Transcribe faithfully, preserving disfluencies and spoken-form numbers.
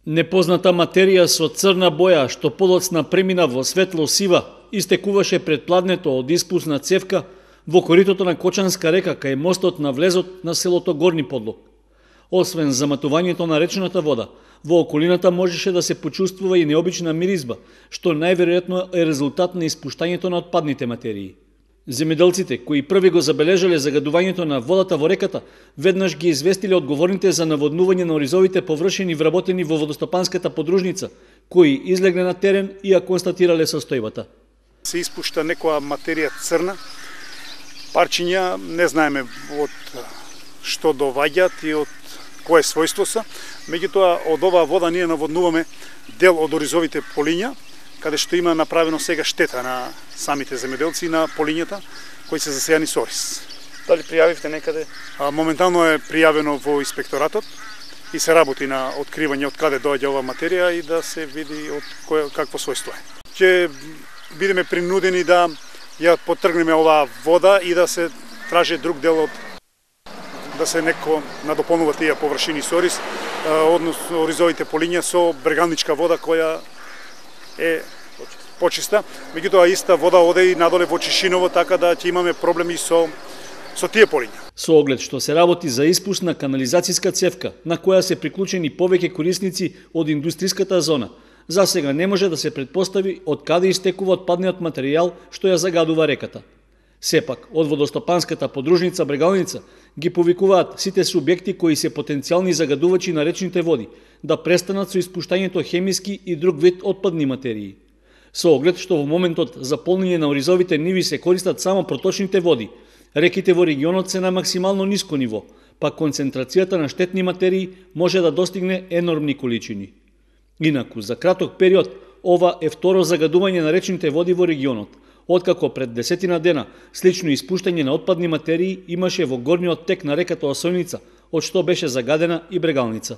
Непозната материја со црна боја, што подоцна премина во светло-сива, истекуваше пред пладнето од испусна цевка во коритото на Кочанска река кај мостот на влезот на селото Горни Подлог. Освен заматувањето на речната вода, во околината можеше да се почувствува и необична миризба, што најверојатно е резултат на испуштањето на отпадните материи. Земјоделците, кои први го забележале загадувањето на водата во реката, веднаш ги известиле одговорните за наводнување на оризовите површини вработени во водостопанската подружница, кои излегле на терен и ја констатирале состојбата. Се испушта некоја материја црна, парчиња, не знаеме од што доваѓаат и од кое својство се, меѓутоа од оваа вода ние наводнуваме дел од оризовите полиња, каде што има направено сега штета на самите земјоделци на полињата кои се засејани со ориз. Дали пријавивте некаде? А, моментално е пријавено во инспекторатот и се работи на откривање од каде доаѓа ова материја и да се види од кое, какво својство е. Ќе бидеме принудени да ја потргнеме оваа вода и да се тражи друг дел од да се неко надополнува тие површини со ориз, односно оризовите полиња со брегалничка вода која е почиста, меѓутоа иста вода оде и надоле во Чишиново, така да ќе имаме проблеми со со тие полиња. Со оглед што се работи за испусна канализацијска цевка, на која се приклучени повеќе корисници од индустријската зона, за сега не може да се претпостави од каде истекува отпадниот материјал што ја загадува реката. Сепак, од водостопанската подружница Брегалница ги повикуваат сите субјекти кои се потенцијални загадувачи на речните води да престанат со испуштањето хемиски и друг вид отпадни материи. Со оглед што во моментот за полнење на оризовите ниви се користат само проточните води, реките во регионот се на максимално ниско ниво, па концентрацијата на штетни материи може да достигне енормни количини. Инаку, за краток период, ова е второ загадување на речните води во регионот, откако пред десетина дена слично испуштање на отпадни материи имаше во горниот тек на реката Осојница, од што беше загадена и Брегалница.